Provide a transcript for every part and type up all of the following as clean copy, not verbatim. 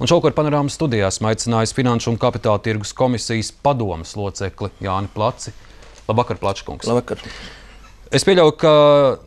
Un šovakar panorāmas studijā esmu aicinājis Finanšu un kapitāla tirgus komisijas padomes locekli Jāni Placi. Labvakar, Plačkungs. Labvakar. Es pieļauju, ka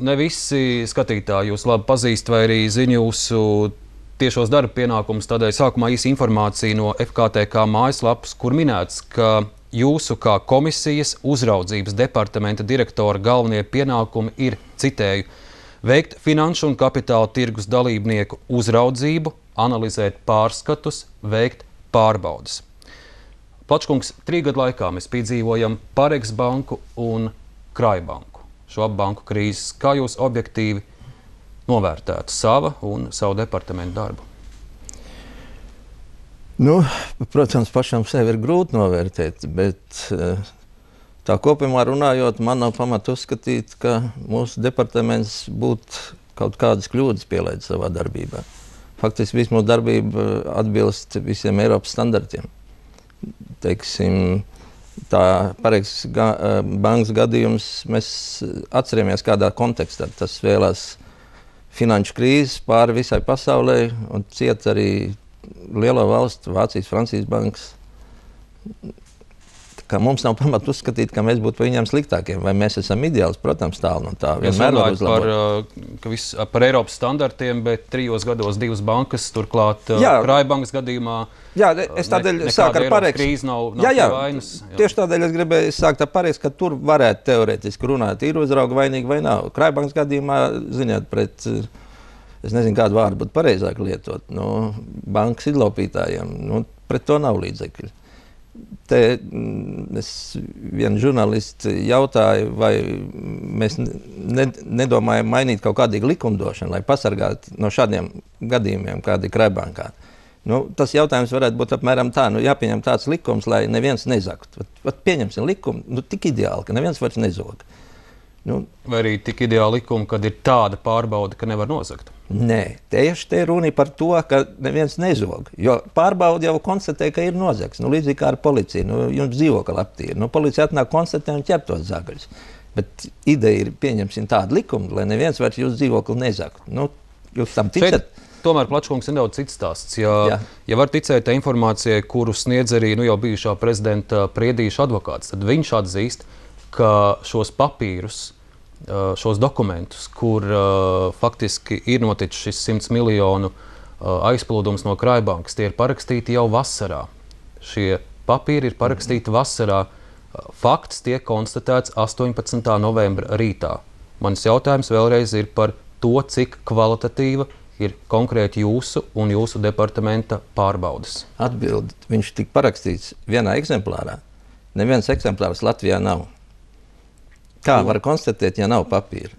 ne visi skatītāji jūs labi pazīst vai arī zina jūsu tiešos darba pienākumus. Tādēļ sākumā īsa informācija no FKTK mājaslapas, kur minēts, ka jūsu kā komisijas uzraudzības departamenta direktora galvenie pienākumi ir, citēju, veikt finanšu un kapitāla tirgus dalībnieku uzraudzību, analizēt pārskatus, veikt pārbaudes. Plačkungs, 3 gadu laikā mēs piedzīvojam Parex banku un Krājbanku. Šo abu banku krīzes, kā jūs objektīvi novērtētu savu departamentu darbu? Nu, protams, pašam sevi ir grūti novērtēt, bet tā kopumā runājot, man nav pamata uzskatīt, ka mūsu departaments būtu kaut kādas kļūdas pielaidis savā darbībā. Faktiski visu mūsu darbība atbilst visiem Eiropas standartiem. Teiksim, tā Parex bankas gadījums mēs atceramies kādā kontekstā. Tas vēlās finanšu krīzes pāri visai pasaulē un ciet arī lielo valstu, Vācijas, Francijas bankas. Ka mums nav pamata uzskatīt, ka mēs būtu viņiem sliktākiem, vai mēs esam ideāls, protams, tālu no tā. Jūs runājat par Eiropas standartiem, bet 3 gados 2 bankas, turklāt Krājbankas gadījumā es tādēļ sāku ar Parex. Krīze nav vainas. Tieši tādēļ es gribēju sākt ar Parex, ka tur varētu teorētiski runāt, ir uzrauga vainīgi vai nav. Krājbankas gadījumā, ziniet, pret, es nezinu, kādu vārdu būtu pareizāk lietot, bankas izlaupītājiem, pret to nav līdzekļu. Te es vienu žurnālistu jautāju, vai mēs nedomājam mainīt kaut kādīgu likumdošanu, lai pasargātu no šādiem gadījumiem, kādi Krājbankā. Tas jautājums varētu būt apmēram tā, jāpieņem tāds likums, lai neviens nezagtu. Pieņemsim likumu, tik ideāli, ka neviens vairs nezog. Vai arī tik ideāli likumi, kad ir tāda pārbauda, ka nevar nozagt? Nē, tieši te runa par to, ka neviens nezog. Jo pārbauda jau konstatē, ka ir nozagts. Līdzīgi kā ar policiju. Jums dzīvokli aptīra. Policija atnāk konstatē un ķer tos zagaļus. Bet ideja ir pieņemsim tādu likumu, lai neviens vairs jūsu dzīvokli nezagtu. Jūs tam ticat? Tomēr, Plačkungs, ir nedaudz cits stāsts. Ja var ticēt informācijai, kuru sniedz arī jau bijušā prezidenta Priedīša advokāts, tad viņš atzīst, ka šos papīrus, šos dokumentus, kur faktiski ir noticis šis 100 miljonu aizplūdums no Krājbankas, tie ir parakstīti jau vasarā. Šie papīri ir parakstīti vasarā. Fakts tiek konstatēts 18. novembra rītā. Mans jautājums vēlreiz ir par to, cik kvalitatīva ir konkrēti jūsu un jūsu departamenta pārbaudes. Atbildi, viņš tika parakstīts vienā eksemplārā. Neviens eksemplārs Latvijā nav. Kā var konstatēt, ja nav papīra?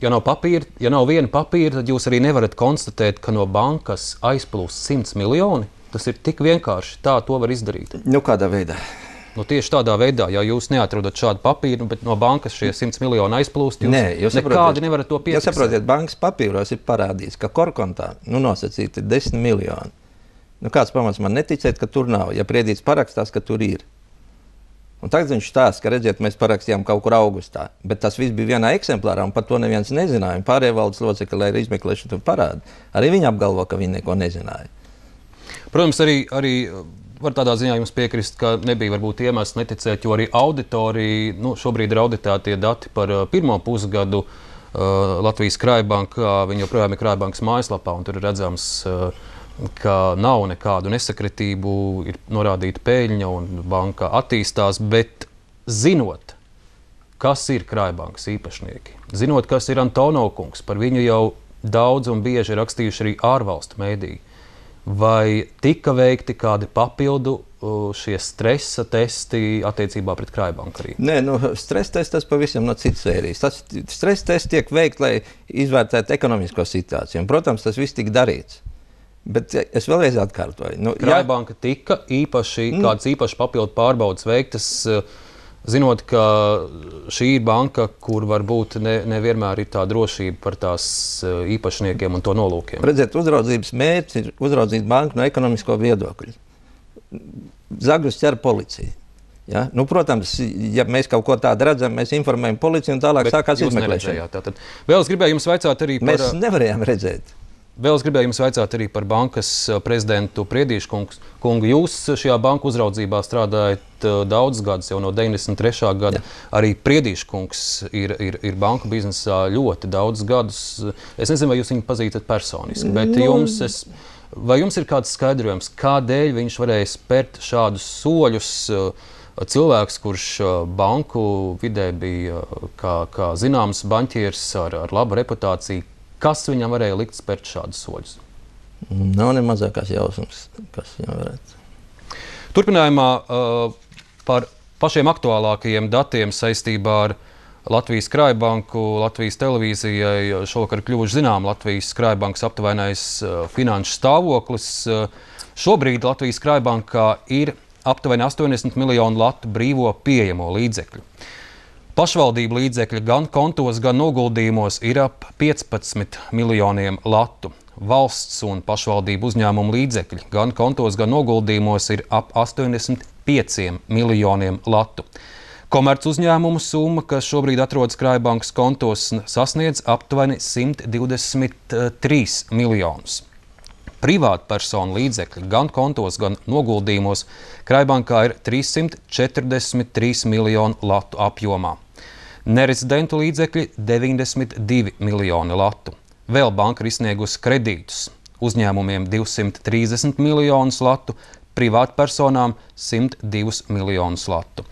Ja nav viena papīra, tad jūs arī nevarat konstatēt, ka no bankas aizplūst 100 miljoni. Tas ir tik vienkārši. Tā to var izdarīt. Kādā veidā? Tieši tādā veidā, ja jūs neatrodat šādu papīru, bet no bankas šie 100 miljoni aizplūst, jūs nekādi nevarat to piefiksēt. Jūs saprotiet, bankas papīros ir parādīts, ka korkontā nosacīti ir 10 miljoni. Kāds pamats man neticēt, ka tur nav, ja Priedīts parakstās, ka tur ir. Un tagad viņš stāsta, ka redziet, mēs parakstījām kaut kur augustā, bet tas viss bija vienā eksemplārā, un par to neviens nezināja. Pārējie valdes locekļi, lai arī izmeklēšanu tur parāda, arī viņi apgalvo, ka viņi neko nezināja. Protams, arī var tādā ziņā jums piekrist, ka nebija varbūt iemesls neticēt, jo arī auditori, šobrīd ir auditētie dati par pirmo pusgadu Latvijas Krājbankā, viņi joprojām ir Krājbankas mājaslapā, un tur ir redzams, ka nav nekādu nesakritību, ir norādīta peļņa un banka attīstās, bet zinot, kas ir Krājbankas īpašnieki, zinot, kas ir Antonov kungs, par viņu jau daudz un bieži rakstījuši arī ārvalstu mēdīji, vai tika veikti kādi papildu šie stresa testi attiecībā pret Krājbanku arī? Nē, stresa tests tas pavisam no citas sērijas. Stresa tests tiek veikts, lai izvērtētu ekonomisko situāciju. Un, protams, tas viss tika darīts. Bet es vēlreiz atkārtoju. Krājbanka tika kādas īpašas papildu pārbaudas veiktas, zinot, ka šī ir banka, kur varbūt nevienmēr ir tā drošība par tās īpašniekiem un to nolūkiem. Redziet, uzraudzības mērķis ir uzraudzīt banku no ekonomisko viedokļa. Zagrus ķer policija. Ja? Protams, ja mēs kaut ko tādu redzam, mēs informējam policiju un tālāk sākās izmeklēšana. Vēl es gribēju jums vaicāt arī par... Mēs nevarējām redzēt. Vēl es gribēju jums vaicāt arī par bankas prezidentu Priedīšu kungu. Jūs šajā banku uzraudzībā strādājat daudzus gadus, jau no 93. gada. Arī Priedīšu kungs ir banku biznesā ļoti daudzus gadus. Es nezinu, vai jūs viņu pazīstat personiski, bet vai jums ir kāds skaidrojums, kādēļ viņš varēja spērt šādus soļus? Cilvēks, kurš banku vidē bija kā zināms baņķieris ar labu reputāciju, kas viņam varēja likt spērt šādus soļus? Nav ne mazākās jausmas, kas viņam varētu. Turpinājumā par pašiem aktuālākajiem datiem saistībā ar Latvijas Krājbanku, Latvijas televīzijai šovakar kļuvuši zinām Latvijas Krājbankas aptuvenais finanšu stāvoklis. Šobrīd Latvijas Krājbankā ir aptuveni 80 miljonu latu brīvo pieejamo līdzekļu. Pašvaldību līdzekļi gan kontos, gan noguldījumos ir ap 15 miljoniem latu. Valsts un pašvaldību uzņēmumu līdzekļi gan kontos, gan noguldījumos ir ap 85 miljoniem latu. Komerc uzņēmumu summa, kas šobrīd atrodas Krājbankas kontos, sasniedz aptuveni 123 miljonus. Privātpersonu līdzekļi gan kontos, gan noguldījumos Krājbankā ir 343 miljonu latu apjomā. Nerezidentu līdzekļi 92 miljoni latu. Vēl banka ir izsniegusi kredītus uzņēmumiem 230 miljonus latu, privātpersonām 102 miljonus latu.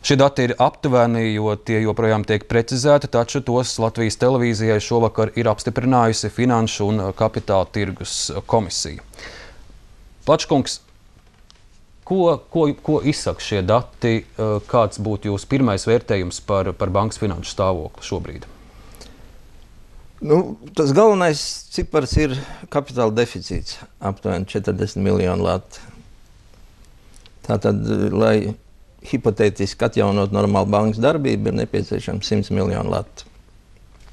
Šie dati ir aptuveni, jo tie joprojām tiek precizēti, taču tos Latvijas televīzijai šovakar ir apstiprinājusi Finanšu un kapitāla tirgus komisija. Plačkungs, ko izsaka šie dati? Kāds būtu jūsu pirmais vērtējums par bankas finanšu stāvokli šobrīd? Tas galvenais cipars ir kapitāla deficīts, aptuveni 40 miljonu latu. Tātad, lai hipotētiski atjaunot normālu bankas darbību, ir nepieciešams 100 miljonu latu.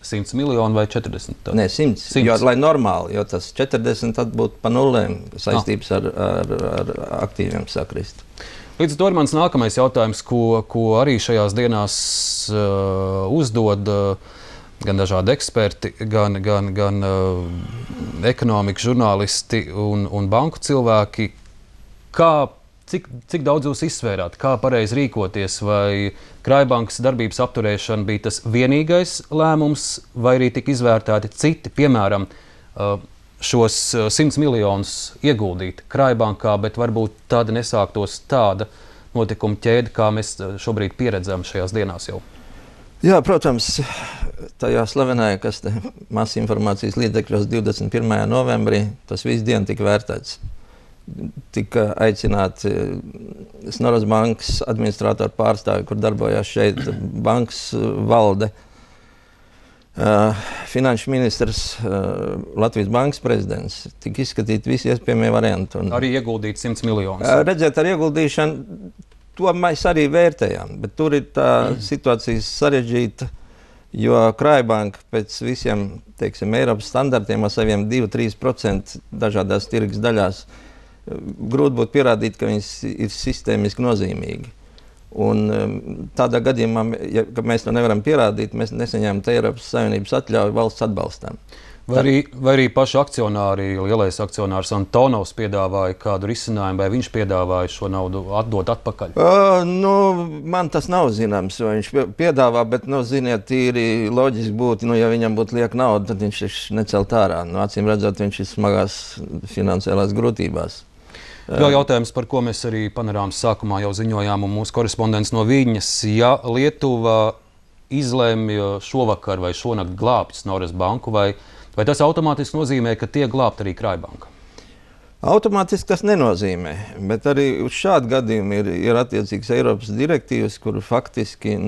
100 miljoni vai 40? Nē, 100. Jo, lai normāli, jo tas 40 tad būtu pa nulēm saistības ar aktīviem sakrist. Līdz ar to ir mans nākamais jautājums, ko arī šajās dienās uzdod gan dažādi eksperti, gan ekonomikas žurnālisti un banku cilvēki. Cik daudz jūs izsvērāt, kā pareizi rīkoties, vai Krājbankas darbības apturēšana bija tas vienīgais lēmums, vai arī tika izvērtēti citi, piemēram, šos 100 miljonus ieguldīt Krājbankā, bet varbūt tāda nesāktos tāda notikuma ķēde, kā mēs šobrīd pieredzam šajās dienās jau? Jā, protams, tajā slavenajā, kas masa informācijas līdzekļos 21. novembrī, tas visu dienu tika vērtēts. Tika aicināti Snoras bankas administrātoru pārstāvi, kur darbojās šeit bankas valde, finanšu ministrs, Latvijas bankas prezidents. Tika izskatīt visi iespējamie varianti. Arī ieguldīt 100 miljonus. Redzēt, ar ieguldīšanu, to mēs arī vērtējām, bet tur ir tā situācija sarežģīta, jo Krājbanka pēc visiem, teiksim, Eiropas standartiem ar saviem 2–3% dažādās tirgus daļās grūti būtu pierādīt, ka viņas ir sistēmiski nozīmīgi. Un tādā gadījumā, ja mēs to nevaram pierādīt, mēs nesaņēmām Eiropas Savienības atļauju valsts atbalstam. Vai arī paši akcionāri, lielais akcionārs Antonovs piedāvāja kādu risinājumu, vai viņš piedāvāja šo naudu atdot atpakaļ? Man tas nav zināms, vai viņš piedāvā, bet, ziniet, tīri loģiski būtu, ja viņam būtu lieka nauda, tad viņš necelt ārā. Acīm redzot, viņš ir smagās finansiālās grūtībās. Vēl jautājums, par ko mēs arī panorāmas sākumā jau ziņojām, un mūsu korespondents no Viļņas. Ja Lietuva izlemj šovakar vai šonakt glābt Snoras banku, vai tas automātiski nozīmē, ka tiek glābt arī Krājbanka? Automātiski tas nenozīmē, bet arī uz šādu gadījumu ir attiecīgas Eiropas direktīvas, kur faktiski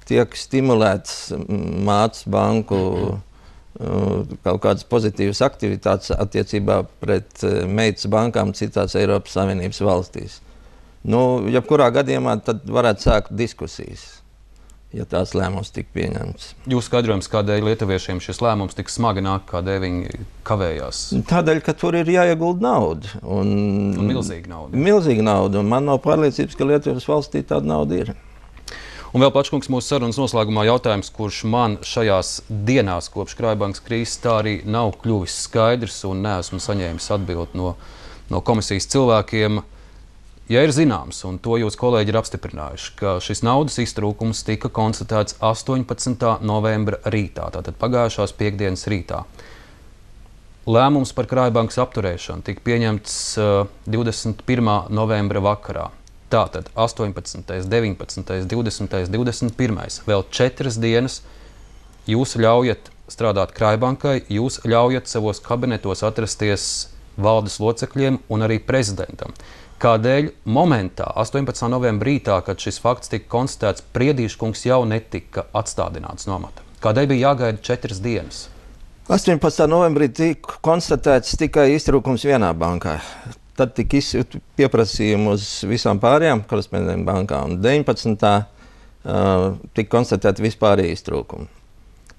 tiek stimulēts mātes banku kaut kādas pozitīvas aktivitātes attiecībā pret meitas bankām citās Eiropas Savienības valstīs. Jebkurā gadījumā tad varētu sākt diskusijas, ja tās lēmums tika pieņemts. Jūs skaidrojums, kādēļ lietuviešiem šis lēmums tik smagi nāk, kādēļ viņi kavējās? Tādēļ, ka tur ir jāiegulda nauda. Un milzīga nauda. Milzīga nauda, un man nav pārliecības, ka Lietuvas valstī tāda nauda ir. Un vēl Plačkungs mūsu sarunas noslēgumā jautājums, kurš man šajās dienās kopš Krājbankas krīzes tā arī nav kļuvis skaidrs un neesmu saņēmis atbildi no komisijas cilvēkiem. Ja ir zināms, un to jūs kolēģi ir apstiprinājuši, ka šis naudas iztrūkums tika konstatēts 18. novembra rītā, tātad pagājušās piektdienas rītā. Lēmums par Krājbankas apturēšanu tika pieņemts 21. novembra vakarā. Tātad 18., 19., 20., 21. Vēl 4 dienas jūs ļaujat strādāt Krājbankai, jūs ļaujat savos kabinetos atrasties valdes locekļiem un arī prezidentam. Kādēļ momentā, 18. novembra rītā, kad šis fakts tika konstatēts, Priedīškungs jau netika atstādināts no amata? Kādēļ bija jāgaida 4 dienas? 18. novembrī tika konstatēts tikai iztrūkums vienā bankā. Tad tika izsūtīta pieprasījuma uz visām pārējām korespondentu bankām. 19. Tika konstatēta vispārēja iztrūkuma.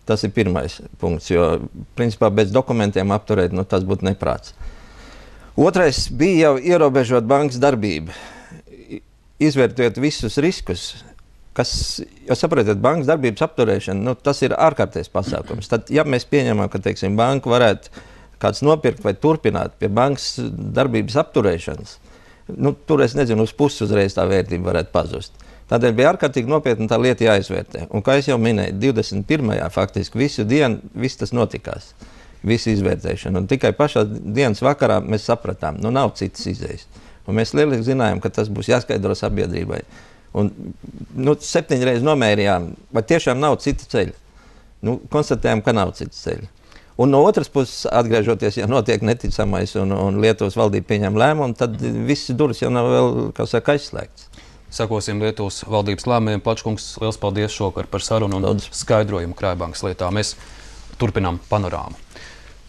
Tas ir pirmais punkts, jo principā bez dokumentiem apturēt, tas būtu neprāts. Otrais bija jau ierobežot bankas darbību, izvērtējot visus riskus, kas, jo saprotat, bankas darbības apturēšana, tas ir ārkārtējs pasākums. Tad, ja mēs pieņemam, ka, teiksim, banka varētu kāds nopirkt vai turpināt pie bankas darbības apturēšanas, tur es nezinu, uz pusi uzreiz tā vērtība varētu pazust. Tādēļ bija ārkārtīgi nopietni tā lieta jāizvērtē. Un, kā es jau minēju, 21. faktiski visu dienu viss tas notikās. Visu izvērtēšanu. Un tikai pašā dienas vakarā mēs sapratām, nav citas izējas. Un mēs lieliski zinājām, ka tas būs jāskaidro sabiedrībai. Un 7 reizes nomērījām, vai tiešām nav cita ceļa. Konstatējām, ka nav cita ceļa. Un no otras puses, atgriežoties, ja notiek neticamais un Lietuvas valdība pieņem lēmumu, tad visas durvis jau nav vēl, aizslēgts. Sakosim Lietuvas valdības lēmumiem. Plačkungs, liels paldies šovakar par sarunu un skaidrojumu Krājbankas lietā. Mēs turpinām panorāmu.